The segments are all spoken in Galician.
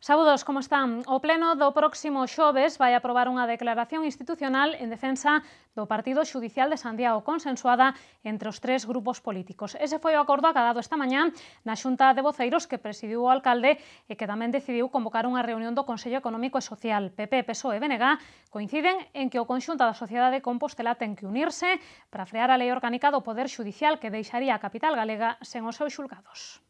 Saúdos, como están? O pleno do próximo xoves vai aprobar unha declaración institucional en defensa do Partido Xudicial de Santiago, consensuada entre os tres grupos políticos. Ese foi o acordo acadado esta mañá na Xunta de Voceiros que presidiu o alcalde e que tamén decidiu convocar unha reunión do Consello Económico e Social. PP, PSOE e BNG coinciden en que o conxunto da sociedade de Compostela ten que unirse para frear a lei orgánica do Poder Xudicial que deixaría a capital galega sen os seus xulgados.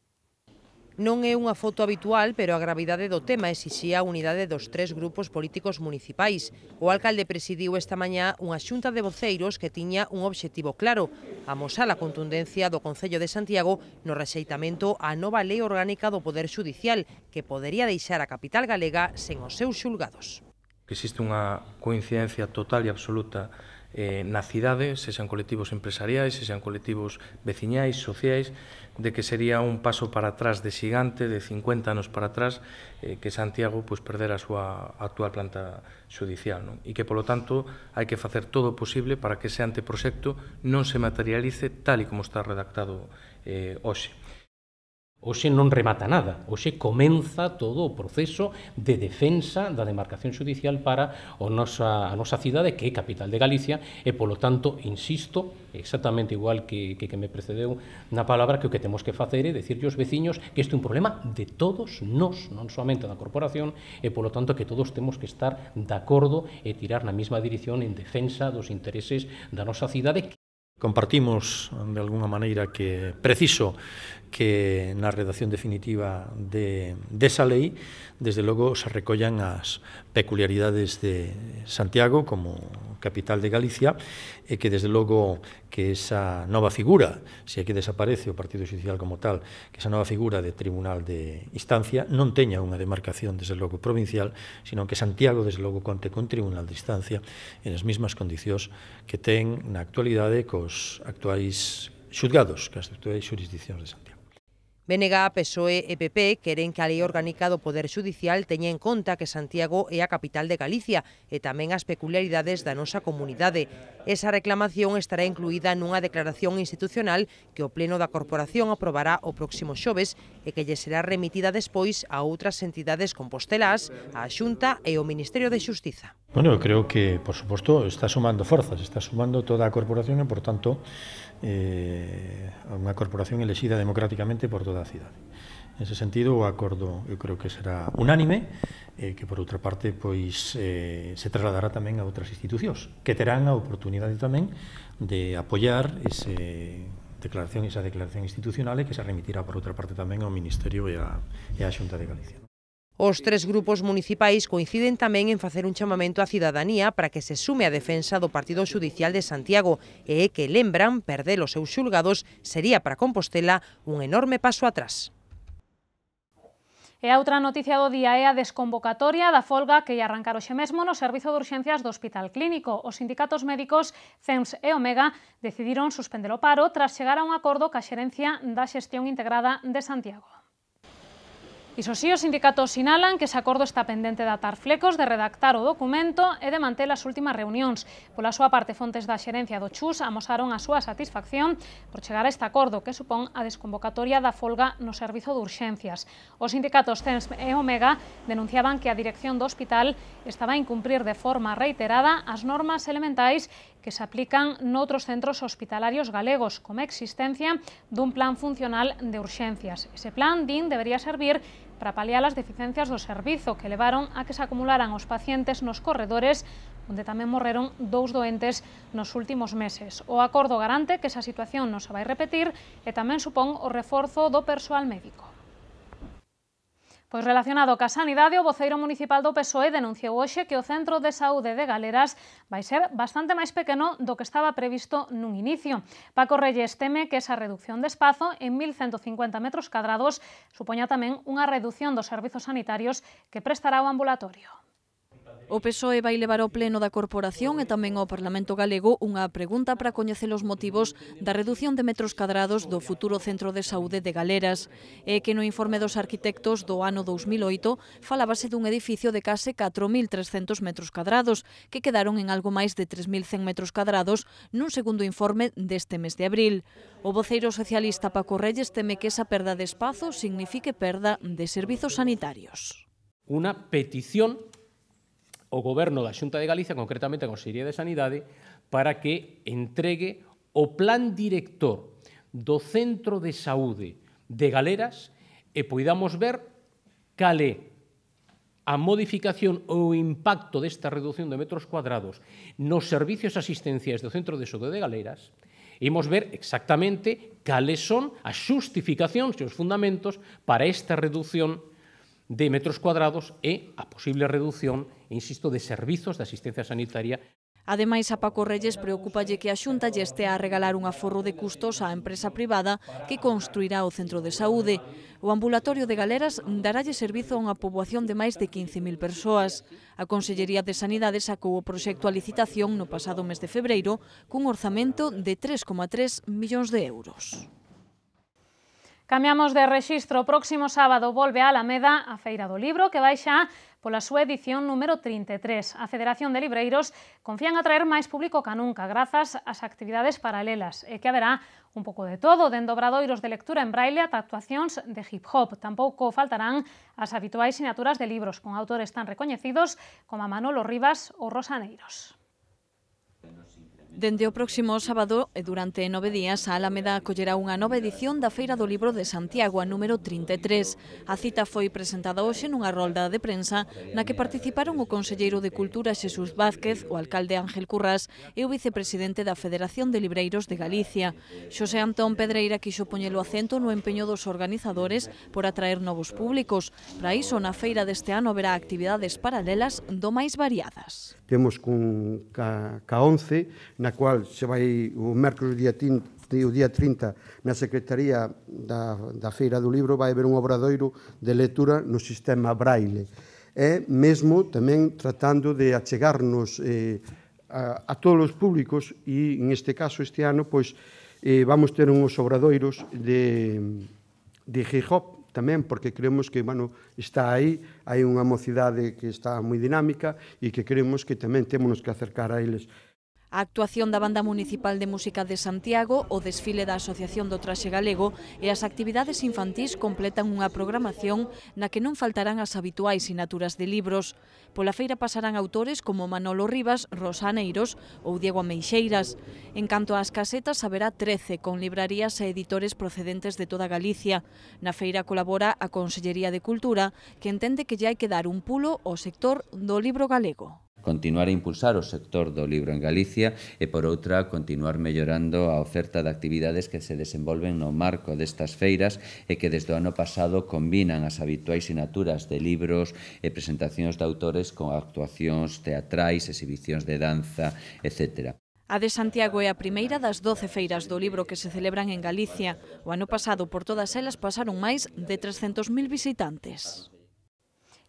Non é unha foto habitual, pero a gravidade do tema exixía a unidade dos tres grupos políticos municipais. O alcalde presidiu esta mañá unha xunta de voceiros que tiña un obxectivo claro: amosar a contundencia do Concello de Santiago no rexeitamento á nova lei orgánica do Poder Xudicial, que podería deixar a capital galega sen os seus xulgados. Existe unha coincidencia total e absoluta na cidade, sexan colectivos empresariais, sexan colectivos veciñais, sociais, de que sería un paso para atrás de xigante, de 50 anos para atrás, que Santiago perdera a súa actual planta xudicial, non? E que, polo tanto, hai que facer todo o posible para que ese anteproxecto non se materialice tal e como está redactado hoxe. Hoxe non remata nada, hoxe comeza todo o proceso de defensa da demarcación xudicial para a nosa cidade, que é capital de Galicia, e, polo tanto, insisto, exactamente igual que me precedeu na palabra, que o que temos que facer é dicirlle aos veciños que este é un problema de todos nós, non somente da corporación, e, polo tanto, que todos temos que estar de acordo e tirar na mesma dirección en defensa dos intereses da nosa cidade. Compartimos, de alguna maneira, que é preciso que na redacción definitiva desa lei, desde logo, se recollan as peculiaridades de Santiago como capital de Galicia e que, desde logo, que esa nova figura, se aquí desaparece o Partido Xudicial como tal, que esa nova figura de Tribunal de Instancia non teña unha demarcación, desde logo, provincial, sino que Santiago, desde logo, conte con Tribunal de Instancia en as mesmas condicións que ten na actualidade cos actuais xulgados, que as actuais xurisdiccións de Santiago. BNG, PSOE e PP queren que a lei orgánica do Poder Xudicial teña en conta que Santiago é a capital de Galicia e tamén as peculiaridades da nosa comunidade. Esa reclamación estará incluída nunha declaración institucional que o Pleno da Corporación aprobará o próximo xoves e que lle será remitida despois a outras entidades compostelás, a Xunta e o Ministerio de Xustiza. Bueno, eu creo que, por suposto, está sumando forzas, está sumando toda a corporación e, por tanto, unha corporación elexida democráticamente por toda a cidade. En ese sentido, o acordo eu creo que será unánime, que por outra parte pois se trasladará tamén a outras institucións, que terán a oportunidade tamén de apoiar esa declaración institucional e que se remitirá por outra parte tamén ao Ministerio e á Xunta de Galicia. Os tres grupos municipais coinciden tamén en facer un chamamento á cidadanía para que se sume á defensa do Partido Xudicial de Santiago e que lembran perder os seus xulgados sería para Compostela un enorme paso atrás. E a outra noticia do día é a desconvocatoria da folga que ia arrancar hoxe mesmo no Servizo de Urxencias do Hospital Clínico. Os sindicatos médicos CEMS e Omega decidiron suspender o paro tras chegar a un acordo ca xerencia da Xestión Integrada de Santiago. Iso si, os sindicatos sinalan que ese acordo está pendente de atar flecos, de redactar o documento e de manter as últimas reunións. Pola súa parte, fontes da xerencia do CHUS amosaron a súa satisfacción por chegar a este acordo que supón a desconvocatoria da folga no servizo de urxencias. Os sindicatos CEMS e Omega denunciaban que a dirección do hospital estaba a incumprir de forma reiterada as normas elementais que se aplican noutros centros hospitalarios galegos, como a existencia dun plan funcional de urxencias. Ese plan, din, debería servir para paliar as deficiencias do servizo que levaron a que se acumularan os pacientes nos corredores, onde tamén morreron 2 doentes nos últimos meses. O acordo garante que esa situación non se vai repetir e tamén supón o reforzo do persoal médico. Pois relacionado ca sanidade, o voceiro municipal do PSOE denunciou hoxe que o Centro de Saúde de Galeras vai ser bastante máis pequeno do que estaba previsto nun inicio. Paco Reyes teme que esa reducción de espazo en 1.150 metros cadrados supoña tamén unha reducción dos servizos sanitarios que prestará o ambulatorio. O PSOE vai levar ao Pleno da Corporación e tamén ao Parlamento Galego unha pregunta para coñecer os motivos da reducción de metros cadrados do futuro Centro de Saúde de Galeras. É que no informe dos arquitectos do ano 2008 falábase dun edificio de case 4.300 metros cadrados, que quedaron en algo máis de 3.100 metros cadrados nun segundo informe deste mes de abril. O voceiro socialista Paco Reyes teme que esa perda de espazo signifique perda de servizos sanitarios. unha petición ao Goberno da Xunta de Galicia, concretamente a Consellería de Sanidade, para que entregue o plan director do Centro de Saúde de Galeras e poidamos ver cal é a modificación ou o impacto desta reducción de metros cuadrados nos servicios asistenciais do Centro de Saúde de Galeras. Imos ver exactamente cales son as xustificacións e os fundamentos para esta reducción de metros cuadrados e a posible reducción, insisto, de servizos de asistencia sanitaria. Ademais, a Paco Reyes preocúpalle que a Xunta lle estea a regalar un aforro de custos á empresa privada que construirá o centro de saúde. O ambulatorio de Galeras daralle servizo a unha poboación de máis de 15.000 persoas. A Consellería de Sanidade sacou o proxecto a licitación no pasado mes de febreiro cun orzamento de 3,3 millóns de euros. Cambiamos de rexistro. O próximo sábado volve a Alameda a Feira do Libro, que vai xa pola súa edición número 33. A Federación de Libreiros confían atraer máis público ca nunca, grazas ás actividades paralelas, e que haberá un pouco de todo, dende obradoiros de lectura en braille ata actuacións de hip-hop. Tampouco faltarán as habituais sinaturas de libros con autores tan recoñecidos como a Manolo Rivas ou Rosa Neiros. Dende o próximo sábado e durante 9 días, a Alameda acollerá unha nova edición da Feira do Libro de Santiago, a número 33. A cita foi presentada hoxe nunha rolda de prensa na que participaron o conselleiro de Cultura Xesús Vázquez, o alcalde Ángel Currás e o vicepresidente da Federación de Libreiros de Galicia. Xosé Antón Pedreira quixo poñelo acento no empeño dos organizadores por atraer novos públicos. Para iso, na feira deste ano haberá actividades paralelas do máis variadas. Temos ca 11, na cual se vai o mércoles o día 30 na Secretaría da Feira do Libro vai haber un obradoiro de lectura no sistema braille. E mesmo tamén tratando de achegarnos a todos os públicos e en este caso este ano pois vamos ter uns obradoiros de hip-hop tamén, porque creemos que, bueno, está aí, hai unha mocidade que está moi dinámica e que creemos que tamén temos que acercar a eles. A actuación da Banda Municipal de Música de Santiago, o desfile da Asociación do Traxe Galego e as actividades infantís completan unha programación na que non faltarán as habituais sinaturas de libros. Pola feira pasarán autores como Manolo Rivas, Rosa Neiros ou Diego Ameixeiras. En canto ás casetas, haberá 13 con librarías e editores procedentes de toda Galicia. Na feira colabora a Consellería de Cultura, que entende que lle hai que dar un pulo ao sector do libro galego. Continuar a impulsar o sector do libro en Galicia e, por outra, continuar mellorando a oferta de actividades que se desenvolven no marco destas feiras e que desde o ano pasado combinan as habituais sinaturas de libros e presentacións de autores con actuacións teatrais, exhibicións de danza, etc. A de Santiago é a primeira das 12 feiras do libro que se celebran en Galicia. O ano pasado, por todas elas, pasaron máis de 300.000 visitantes.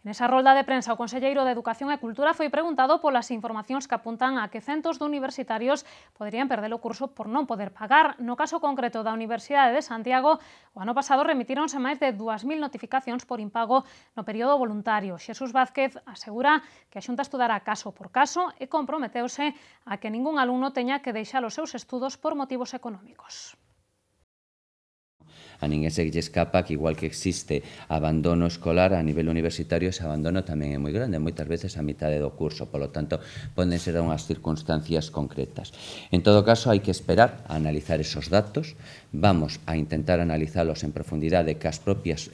Nesa rolda de prensa, o conselleiro de Educación e Cultura foi preguntado polas informacións que apuntan a que centos de universitarios poderían perder o curso por non poder pagar. No caso concreto da Universidade de Santiago, o ano pasado remitíronse máis de 2.000 notificacións por impago no período voluntario. Xesús Vázquez asegura que a Xunta estudará caso por caso e comprometeuse a que ningún alumno teña que deixar os seus estudos por motivos económicos. A ninguén se lle escapa que igual que existe abandono escolar a nivel universitario, ese abandono tamén é moi grande, moitas veces a mitade do curso, polo tanto, poden ser unhas circunstancias concretas. En todo caso, hai que esperar a analizar esos datos, vamos a intentar analizalos en profundidade cas propias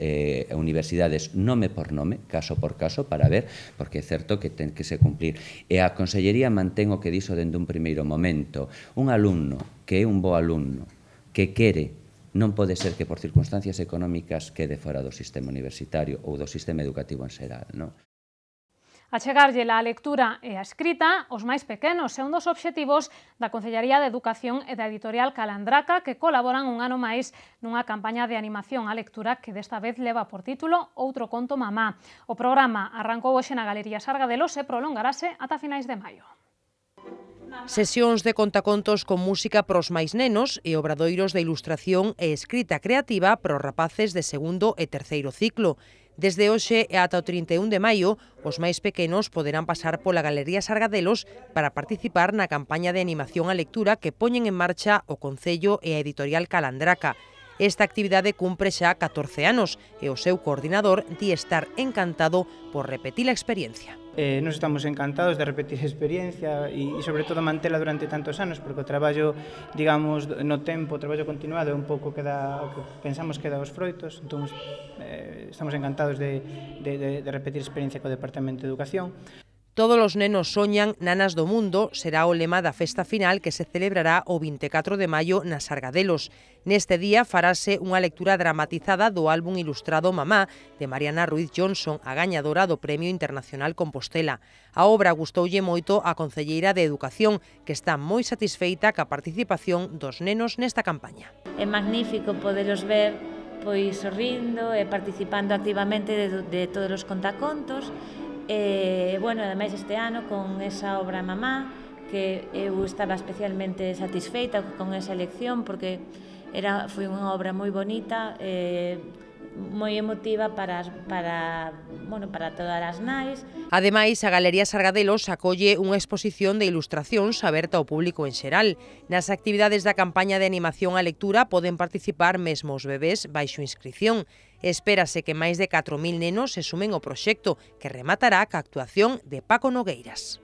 universidades nome por nome, caso por caso, para ver, porque é certo que ten que se cumplir. E a Consellería mantén o que dixo dende un primeiro momento. Un alumno que é un bo alumno, que quere, non pode ser que por circunstancias económicas quede fora do sistema universitario ou do sistema educativo en xeral, non? Achegarlle a lectura e a escrita aos máis pequenos é un dos obxectivos da Consellería de Educación e da editorial Calandraca, que colaboran un ano máis nunha campaña de animación á lectura que desta vez leva por título Outro conto mamá. O programa arrancou hoxe na Galería Sargadelos e prolongarase ata finais de maio. Sesións de contacontos con música pros máis nenos e obradoiros de ilustración e escrita creativa pros rapaces de segundo e terceiro ciclo. Desde hoxe e ata o 31 de maio, os máis pequenos poderán pasar pola Galería Sargadelos para participar na campaña de animación á lectura que poñen en marcha o Concello e a editorial Calandraca. Esta actividade cumpre xa 14 anos e o seu coordinador di estar encantado por repetir a experiencia. Nos estamos encantados de repetir a experiencia e sobre todo mantela durante tantos anos, porque o traballo, digamos, no tempo, o traballo continuado é un pouco que pensamos que dá os froitos, entón estamos encantados de repetir a experiencia co Departamento de Educación. Todos os nenos soñan nanas do mundo será o lema da festa final que se celebrará o 24 de maio nas Sargadelos. Neste día farase unha lectura dramatizada do álbum ilustrado Mamá de Mariana Ruiz Johnson, a gañadora do Premio Internacional Compostela. A obra gustoulle moito á concelleira de Educación, que está moi satisfeita ca participación dos nenos nesta campaña. É magnífico poderos ver pois sorrindo e participando activamente de todos os contacontos. Bueno, ademais este ano con esa obra Mamá, que eu estaba especialmente satisfeita con esa elección porque foi unha obra moi bonita, moi emotiva para todas as nais. Ademais, a Galería Sargadelos acolle unha exposición de ilustracións aberta ao público en xeral. Nas actividades da campaña de animación á lectura poden participar mesmo os bebés baixo inscrición. Espérase que máis de 4.000 nenos se sumen ao proxecto, que rematará ca actuación de Paco Nogueiras.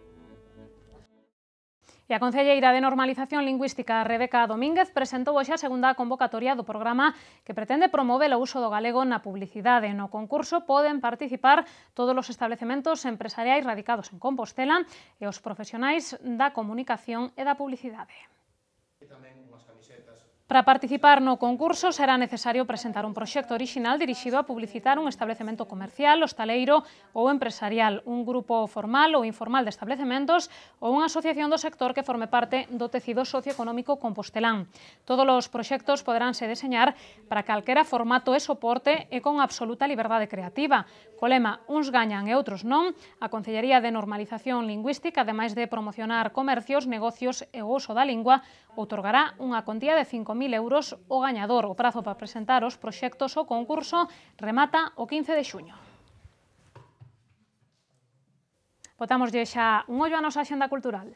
E a concelleira de Normalización Lingüística, Rebeca Domínguez, presentou hoxe a segunda convocatoria do programa que pretende promover o uso do galego na publicidade. No concurso poden participar todos os establecementos empresariais radicados en Compostela e os profesionais da comunicación e da publicidade. Para participar no concurso será necesario presentar un proxecto orixinal dirixido a publicitar un establecemento comercial, hostaleiro ou empresarial, un grupo formal ou informal de establecementos ou unha asociación do sector que forme parte do tecido socioeconómico compostelán. Todos os proxectos poderánse deseñar para calquera formato e soporte e con absoluta liberdade creativa. Co lema "Uns gañan e outros non", a Concellería de Normalización Lingüística, ademais de promocionar comercios, negocios e o uso da lingua, outorgará unha contía de 5.000 euros ao gañador. O prazo para presentar os proxectos ao concurso remata o 15 de xuño. Botámoslle xa un ollo á nosa axenda cultural.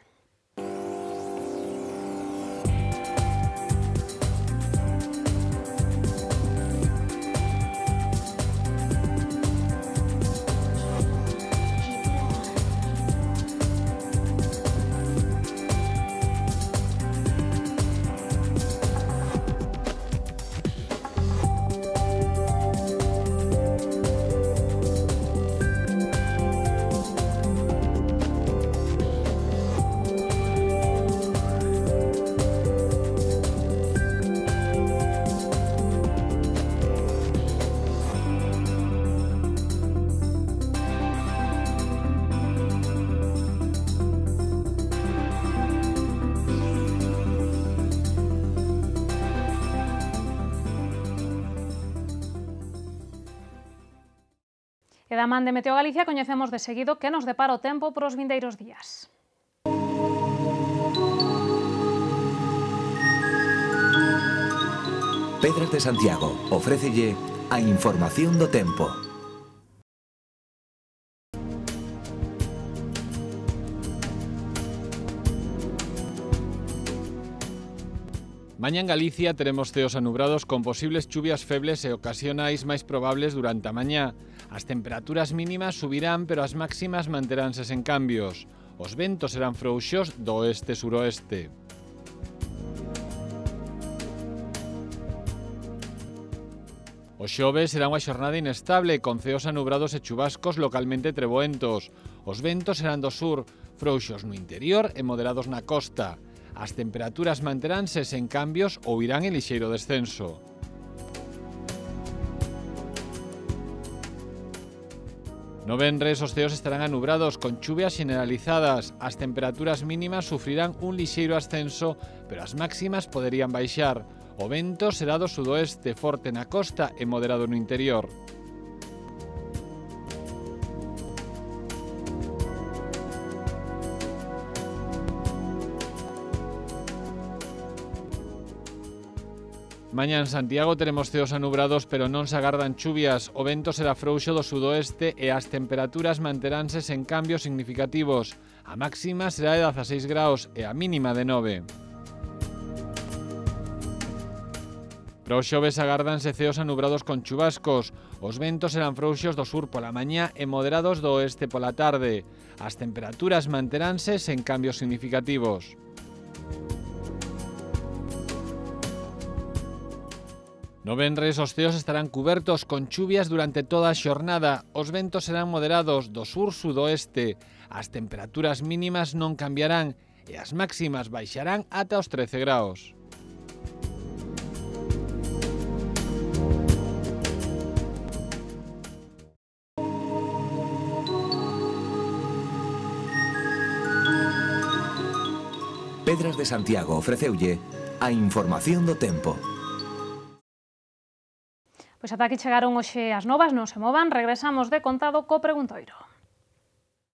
E da man de Meteo Galicia coñecemos de seguido que nos depara o tempo por os vindeiros días. Pedras de Santiago ofrécelle a información do tempo. Mañá en Galicia teremos ceos anubrados con posibles chuvias febles e ocasionais máis probables durante a mañá. As temperaturas mínimas subirán, pero as máximas manteránse sen cambios. Os ventos serán frouxos do oeste-suroeste. O xoves será unha xornada inestable, con ceos anubrados e chubascos localmente treboentos. Os ventos serán do sur, frouxos no interior e moderados na costa. As temperaturas manteránse sen cambios ou irán en lixeiro descenso. No venres os ceos estarán anubrados con chuvias generalizadas. As temperaturas mínimas sufrirán un lixeiro ascenso, pero as máximas poderían baixar. O vento será do sudoeste, forte na costa e moderado no interior. Mañá en Santiago teremos ceos anubrados, pero non se agardan chuvias. O vento será frouxo do sudoeste e as temperaturas manteránse sen cambios significativos. A máxima será de 16 graus e a mínima de 9. Para o xoves agárdanse ceos anubrados con chubascos. Os ventos serán frouxos do sur pola mañá e moderados do oeste pola tarde. As temperaturas manteránse sen cambios significativos. No venres os ceos estarán cubertos con chuvias durante toda a xornada. Os ventos serán moderados do sur-sudoeste. As temperaturas mínimas non cambiarán e as máximas baixarán ata os 13 graus. Pedras de Santiago ofreceulle a información do tempo. Pois ata aquí chegaron hoxe as novas, non se movan, regresamos de contado co preguntoiro.